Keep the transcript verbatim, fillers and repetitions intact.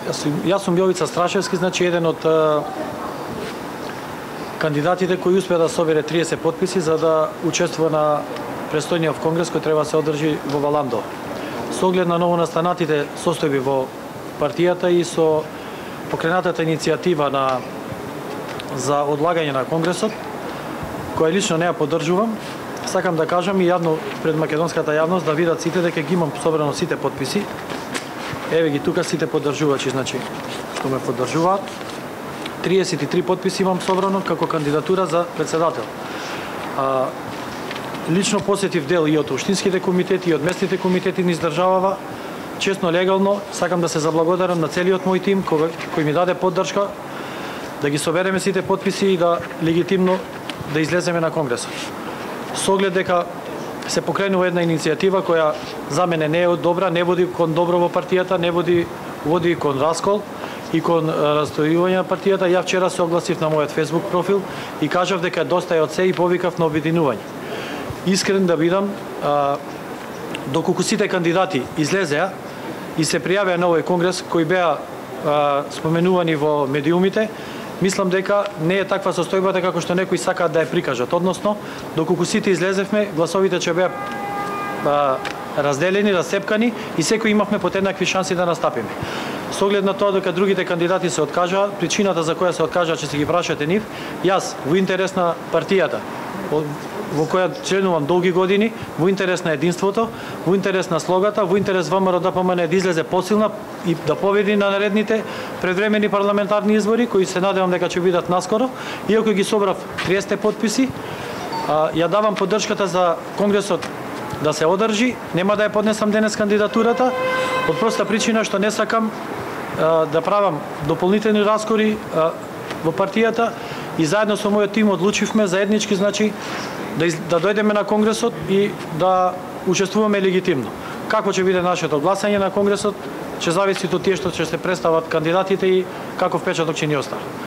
Јас сум, јас сум Јовица Страшевски, значи еден од а, кандидатите кои успеа да собере триесет потписи за да учествува на престојниот конгрес кој треба да се одржи во Валандо. Со оглед на новонастанатите состојби во партијата и со покренатата иницијатива на за одлагање на конгресот, која лично не ја поддржувам, сакам да кажам и јавно пред македонската јавност да видат сите дека ги имам собрано сите потписи. Еве ги тука сите поддржувачи, значи, што ме поддржуваат. триесет и три потписи имам собрано како кандидатура за председател. А, лично посетив дел и од општинските комитети и од местните комитети низ државава. Честно, легално, сакам да се заблагодарам на целиот мој тим кој, кој ми даде поддршка да ги собереме сите потписи и да легитимно да излеземе на конгресот. Со оглед дека се покренува една иницијатива која за мене не е добра, не води кон добро во партијата, не води води кон раскол и кон растојување на партијата. Ја вчера се огласив на мојот Facebook профил и кажав дека доста е од се и повикав на обединување. Искрен да бидам, а, доколку сите кандидати излезеа и се пријавеа на овој конгрес кои беа а, споменувани во медиумите, мислам дека не е таква состојбата како што некои сакаат да ја прикажат. Односно, доколку сите излезевме, гласовите ќе беа а, разделени, расцепкани и секој имавме по еднакви шанси да настапиме. Со оглед на тоа дека другите кандидати се откажаа, причината за која се откажаа ќе се ги прашате нив, јас во интерес на партијата во која членувам долги години, во интерес на единството, во интерес на слогата, во интерес ВМРО Д П М Н да излезе посилна и да победи на наредните предвремени парламентарни избори, кои се надевам дека ќе бидат наскоро. Иако ги собрав триесет потписи, ја давам поддршката за конгресот да се одржи, нема да ја поднесам денес кандидатурата, од проста причина што не сакам да правам дополнителни раскори во партијата и заедно со мојот тим одлучивме заеднички, значи, да, из, да дојдеме на конгресот и да учествуваме легитимно. Како ќе биде нашето гласање на конгресот, ќе зависи од тие што ќе се представат кандидатите и каков печаток ќе ни остават.